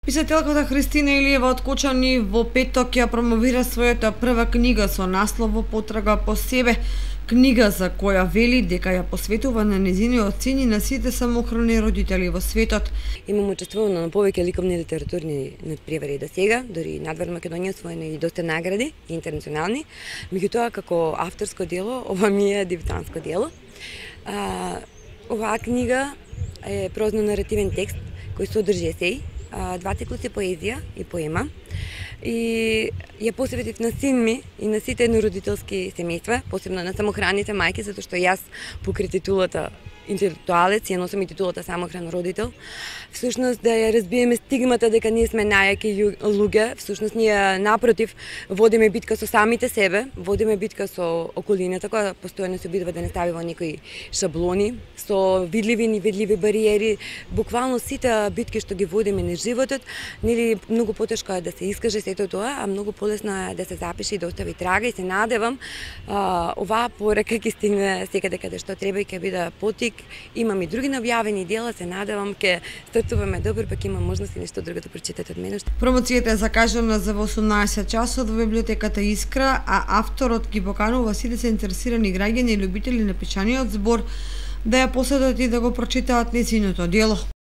Писателката Христина Илиева од Кочани во петок ја промовира својата прва книга со наслов "Во потрага по себе", книга за која вели дека ја посветува на нејзиниот син и на сите самохрани родители во светот. Имам учествувано на повеќе ликовни литературни надпревари до сега, дори надвор Македонија освоено и доста награди интернационални. Меѓутоа, како авторско дело, ова ми е дебютанско дело. Оваа книга е прозно-наративен текст кој содржи есеи, два циклуси поезија и поема, и ја посветив на син ми и на сите еднородителски семејства, посебно на самохраните мајки, затоа што јас покрај титулата интелектуалец ја носам и титулата самохран родител. Всушност да ја разбиеме стигмата дека ние сме најаки луѓе, всушност ние напротив водиме битка со самите себе, водиме битка со околината која постојано се обидува да не стави во некои шаблони, со видливи и невидливи бариери. Буквално сите битки што ги водиме на животот, нели многу потешко е да се искаже сето тоа, а многу полесно е да се запише и да остави трага, и се надевам оваа порака ќе стигне секаде каде што треба и ќе биде потик. Имам и други најавени дела, се надевам ќе стартуваме добро, пак има можност и нешто друго да прочитате од мене. Промоцијата е закажана за 18 часот во библиотеката Искра, а авторот ги поканува сите заинтересирани граѓани и љубители на пишаниот збор да ја посетат и да го прочитаат нејзиното дело.